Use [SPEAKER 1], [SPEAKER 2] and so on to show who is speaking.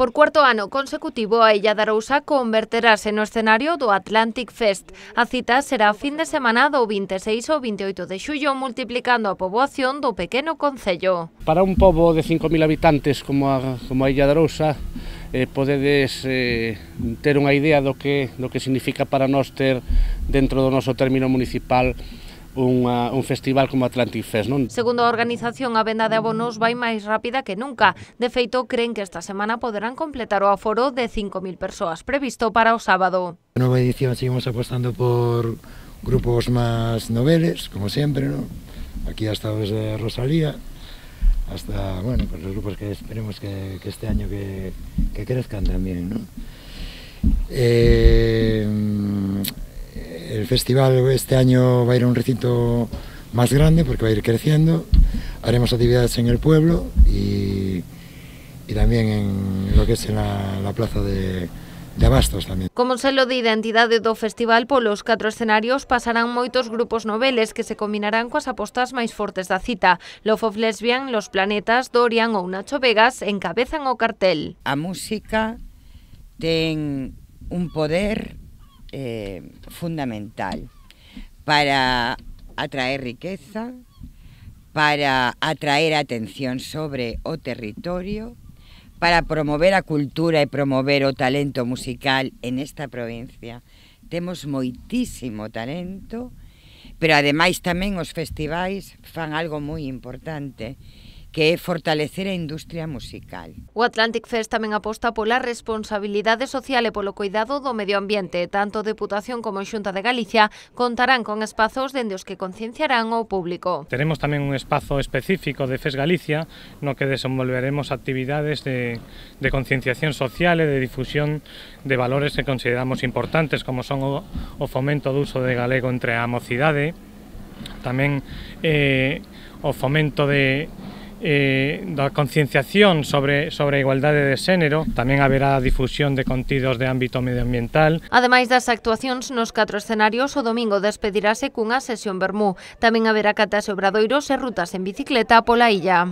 [SPEAKER 1] Por cuarto ano consecutivo, a Illa de Arousa converterase no escenario do Atlantic Fest. A cita será fin de semana do 26 ao 28 de xullo, multiplicando a poboación do pequeno concello.
[SPEAKER 2] Para un pobo de 5.000 habitantes como a Illa de Arousa, podedes ter unha idea do que significa para nós ter dentro do noso término municipal un festival como Atlantic Fest, non?
[SPEAKER 1] Segundo a organización, a venda de abonos vai máis rápida que nunca. De feito, creen que esta semana poderán completar o aforo de 5.000 persoas previsto para o sábado.
[SPEAKER 3] Na nova edición seguimos apostando por grupos máis noveles, como sempre, ¿no? Aquí hasta desde Rosalía, hasta, bueno, pues los grupos que esperemos que este año que crezcan también, ¿no? El festival este año va a ir a un recinto más grande porque va a ir creciendo. Haremos actividades en el pueblo y también en lo que es en la plaza de Abastos tamén.
[SPEAKER 1] Como selo de identidade do festival, polos 4 escenarios pasarán moitos grupos noveles que se combinarán coas apostas máis fortes da cita. Love of Lesbian, Los Planetas, Dorian ou Nacho Vegas encabezan o cartel.
[SPEAKER 4] A música ten un poder fundamental para atraer riqueza, para atraer atención sobre o territorio, para promover a cultura e promover o talento musical en esta provincia. Temos moitísimo talento, pero ademais tamén os festivais fan algo moi importante, que é fortalecer a industria musical.
[SPEAKER 1] O Atlantic Fest tamén aposta pola responsabilidade social e polo cuidado do medio ambiente. Tanto Deputación como Xunta de Galicia contarán con espazos dende os que concienciarán ao público.
[SPEAKER 5] Teremos tamén un espazo específico de FES Galicia no que desenvolveremos actividades de concienciación social e de difusión de valores que consideramos importantes, como son o fomento do uso de galego entre a mocidade, tamén o fomento da concienciación sobre a igualdade de xénero. Tamén haberá difusión de contidos de ámbito medioambiental.
[SPEAKER 1] Ademais das actuacións nos 4 escenarios, o domingo despedirase cunha sesión vermú. Tamén haberá catas e obradoiros e rutas en bicicleta pola illa.